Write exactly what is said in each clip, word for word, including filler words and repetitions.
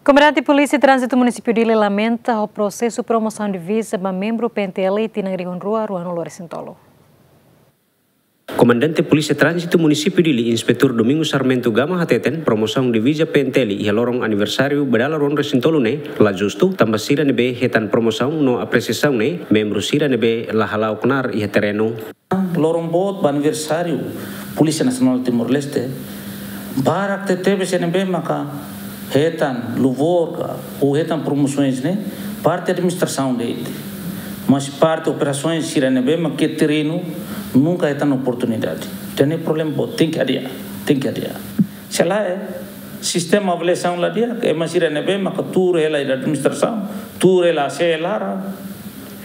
Komandante Polísia Tránzitu Munisípiu Dili lamenta ho prosesu promosaun diviza ba membru P N T L tinan rihun rua ruanulu-resin-tolu. Komandante Polísia Tránzitu Munisípiu Dili, Inspetór Domingos Sarmento Gama hateten, promosaun diviza P N T L iha loron aniversáriu ba dala ruanulu-resin-tolu ne'e la justu, tanba sira ne'ebé hetan promosaun no apresiasaun ne'e membru sira ne'ebé la hala'o knaar iha terrenu. Loron boot ba aniversáriu Polísia Nasionál Timor-Leste, barak tebetebes sira ne'ebé maka hetan louvor ka, ou hetan promosoens ne'e, parte administrasaun de'it. Mas parte operasoens sira ne'ebé maka iha terrenu nunka hetan oportunidade. Entaun ne'e problema boot, tenke hadi'a, tenke hadi'a. Se lae, sistema avaliasaun la di'ak, ema sira ne'ebé maka tuur hela iha administrasaun, tuur hela hase'e laran,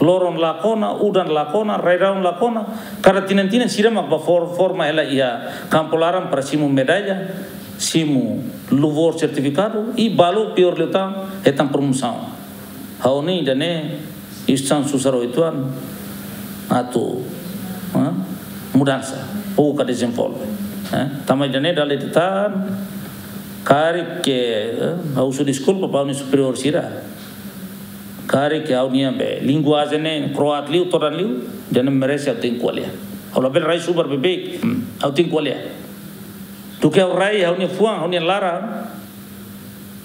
loron la kona, udan la kona, rai-rahun la kona, kada tinan-tinan sira mak ba for-, forma hela iha kampu laran para simu medalla, simu louvor, sertifikadu, i balu piór liután hetan promosaun. Ha'u hanoin ida-ne'e instituisaun susar uitoan atu, ha, mudansa, ou ka dezenvolve. Ha? Tanba ida-ne'e dala ida tan, karik, eh, ha'u husu deskulpa ba ha'u-nia superiór sira. Karik ha'u-nia be linguajen ne'e kroat liu, todan liu, ida-ne'e merese ha'u tenke ko'alia. Ha'u labele rai subar beibeik, hmm, ha'u tenke ko'alia. Duké ha'u rai ha'u-nia fuan, ha'u-nia laran,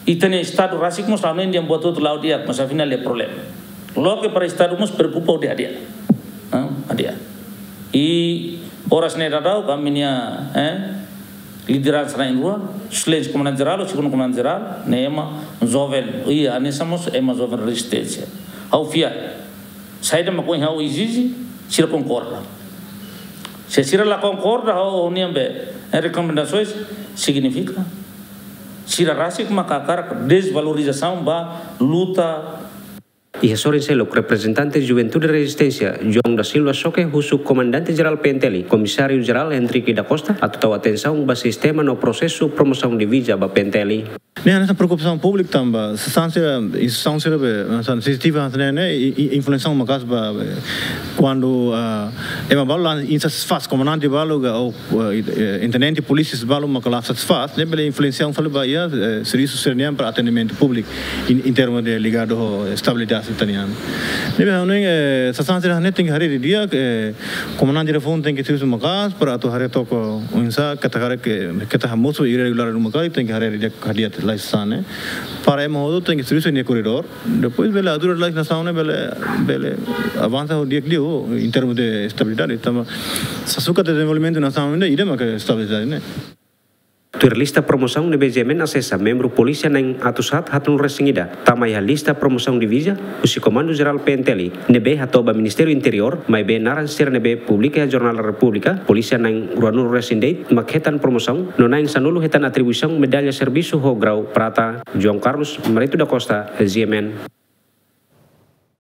ita-nia Estadu rasik mós hanoin dehan buat hotu la'o di'ak, mas afinál iha problema. Loke para Estadu mós preokupa hodi hadi'a. Ha? Hadi'a. I oras ne'e daudaun ami-nia, eh, lideransa na'in-rua, Suplente Komandante Jerál, Segundu Komandante Jerál, ne'e ema joven, i hanesan mós ema joven rezisténsia. Ha'u fiar. Saida mak ohin ha'u ezije, sira konkorda. Se sira la konkorda ho ha'u-nia be, eh, rekomendasoens, signifika sira rasik maka hakarak dezvalorizasaun ba luta. Iha sorin seluk, reprezentante Juventude Rezisténsia, João da Silva Xoke, husu Komandante Jerál P N T L, Komisáriu Jerál Henrique da Costa, atu tau atensaun ba sistema no prosesu promosaun diviza ba P N T L. Ne'e hanesan preokupasaun públiku tanba sasán sira, instituisaun sira be, hanesan sensitiva hanesan ne'e, i, i, influensia maka'as ba, be, kuandu, ah, ema balu la insatisfás, komandante balu ka, ou, eh, eh, intendente polísia balu maka la satisfás, ne'e bele influensia fali ba iha, eh, servisu sira-nian para atendimentu públiku, em, em termos de ligadu ho estabilidade sira-nian. Ne'ebé ha'u hanoin, eh, sasán sira-ne'e tenke haree didi'ak, eh, komandante sira foun tenke servisu maka'as para atu haree took oinsá, keta haree ke, keta hamosu irregularidade maka'as, tenke haree didi'ak hadi'a lai sasán ne'e. Para ema hotu tenke servisu iha koridór. Depois bele ajuda lai nasaun ne'e bele, bele avansa ho di'ak liu em termos de estabilidade. Tanba sasukat dezenvolvimentu nasaun ne'e, ida maka estabilidade ne'e. Tuir lista promosaun ne'ebé GMN asesa, membru polísia na'in atus haat haatnulu-resin-ida tama iha lista promosaun diviza husi Komandu Jerál P N T L, ne'ebé hato'o ba Ministériu Interiór, maibé naran sira ne'ebé publika iha Jornál Repúblika, polísia na'in ruanulu-resin-de'it mak hetan promosaun, no na'in sanulu hetan atribuisaun medalla servisu ho grau prata. João Carlos Marito da Costa, GMN.